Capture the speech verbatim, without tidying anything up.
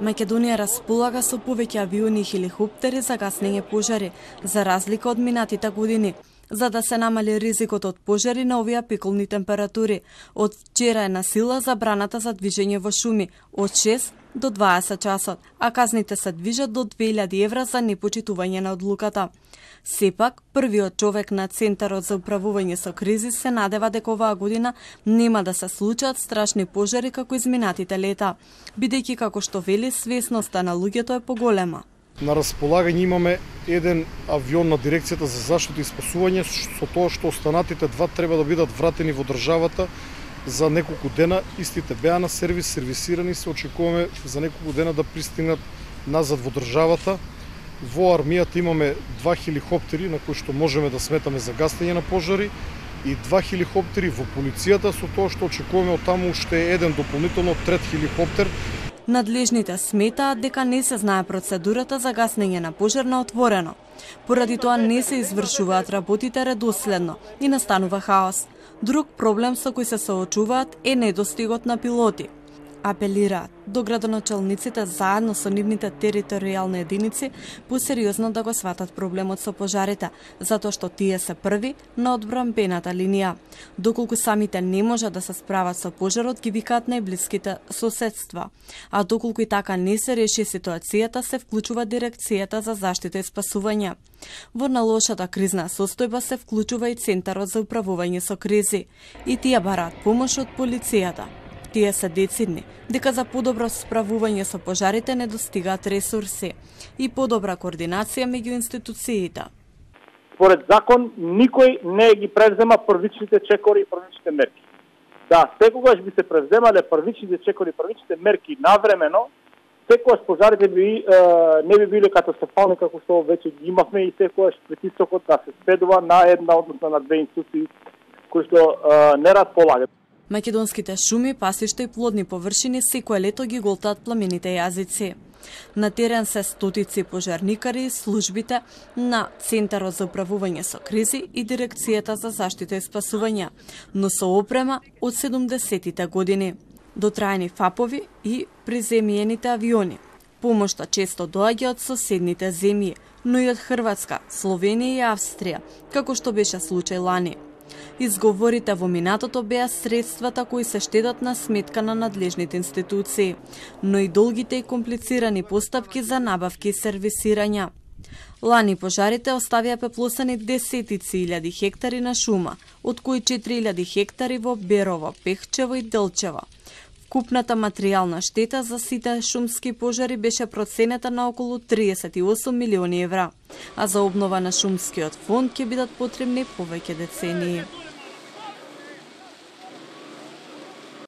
Македонија располага со повеќе авиони и хеликоптери за гаснење пожари, за разлика од минатите години. За да се намали ризикот од пожари на овие пеколни температури, од вчера е на сила забраната за движење во шуми од шест до дваесет часот, а казните се движат до две илјади евра за непочитување на одлуката. Сепак, првиот човек на Центарот за управување со кризи се надева дека оваа година нема да се случат страшни пожари како изминатите лета, бидејќи како што вели свесноста на луѓето е поголема. На располагање имаме еден авион на дирекцијата за заштита и спасување, со тоа што останатите два треба да бидат вратени во државата за неколку дена. Истите беа на сервис, сервисирани се, очекуваме за неколку дена да пристигнат назад во државата. Во армијата имаме два хеликоптери на кои што можеме да сметаме за гаснење на пожари и два хеликоптери во полицијата, со тоа што очекуваме од таму уште еден дополнително трет хеликоптер. Надлежните сметаат дека не се знае процедурата за гаснење на пожар на отворено. Поради тоа не се извршуваат работите редоследно и настанува хаос. Друг проблем со кој се соочуваат е недостигот на пилоти. Апелираат до градоначалниците заедно со нивните територијални единици посериозно да го сватат проблемот со пожарите, затоа што тие се први на одбранбената линија. Доколку самите не можат да се справат со пожарот, ги викаат најблиските соседства. А доколку и така не се реши ситуацијата, се вклучува дирекцијата за заштита и спасување. Во налошата кризна состојба се вклучува и Центарот за управување со кризи. И тие бараат помош од полицијата. Тие се децидни дека за подобро справување со пожарите недостигаат ресурси и подобра координација меѓу институциите. Според закон, никој не ги превзема првичните чекори и првичните мерки. Да, секогаш би се превземале првичните чекори и првичните мерки навремено, секогаш пожарите би, е, не би биле катастрофални како што веќе ги имавме и секогаш притисокот да се спедува на една, односно на две институции кои што е, не располагат. Македонските шуми, пасишта и плодни површини секое лето ги голтаат пламените јазици. На терен се стотици пожарникари и службите на Центарот за управување со кризи и Дирекцијата за заштита и спасување, но со опрема од седумдесетите години, дотраени фапови и приземјените авиони. Помошта често доаѓа од соседните земји, но и од Хрватска, Словенија и Австрија, како што беше случај лани. Изговорите во минатото беа средствата кои се штедат на сметка на надлежните институции, но и долгите и комплицирани постапки за набавки и сервисирања. Лани пожарите оставија пеплосани десетици илјади хектари на шума, од кои четири илјади хектари во Берово, Пехчево и Делчево. Вкупната материјална штета за сите шумски пожари беше проценета на околу триесет и осум милиони евра, а за обнова на шумскиот фонд ќе бидат потребни повеќе децении.